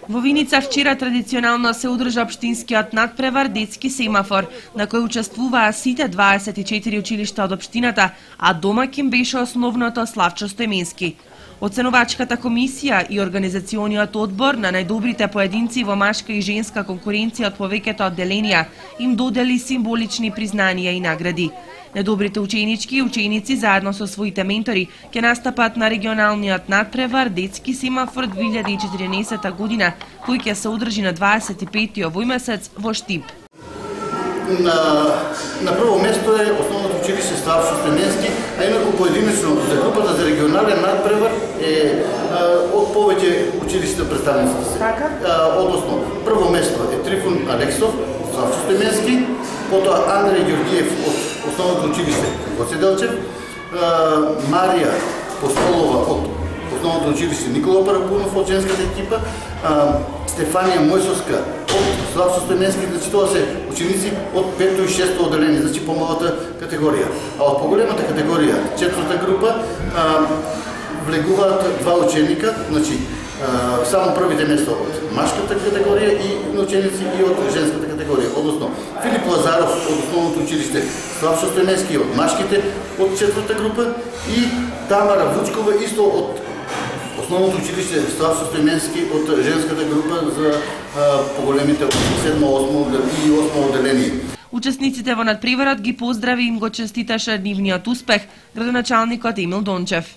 Во Виница вчера традиционално се одржа општинскиот надпревар детски семафор, на кој учествуваа сите 24 училишта од општината, а домаќин беше основното Славчо Стојменски. Оценувачката комисија и организациониот одбор на најдобрите поединци во машка и женска конкуренција од повеќето одделенија им додели символични признанија и награди. Најдобрите ученички и ученици заедно со своите ментори ќе настапат на регионалниот надпревар детски семафор 2014 година, кој ќе се одржи на 25 овој месец во Штип. На прво место е основното училище Славчо Стојменски, а инаку поединечно за групата за регионален надпревар е од повеќе училишта представниците се. Односно, прво место е Трифун Алексов, Славчо Стојменски, потоа Андреј Ѓорѓиев од основното училиште Гоце Делчев, Марија Постолова од основното училиште Никола Парапунов од женската екипа, Стефанија Мојсовска од Славчо Стојменски, значи тоа се ученици од 5-то и 6-то одделение, значи помалата категорија. А од поголемата категорија, 4-та група, влегуваат два ученика, значи само првите место од машката категорија и ученици и од женската категорија. Односно, Филип Лазаров од основното училиште Славчо Стојменски од машките од 4-та група и Тамара Вучкова исто од основното училиште Славчо Стојменски од женската група за поголемите од 7-8 и 8 одделение. Учесниците во надпреварот ги поздрави и им го честиташе нивниот успех градоначалникот Емил Дончев.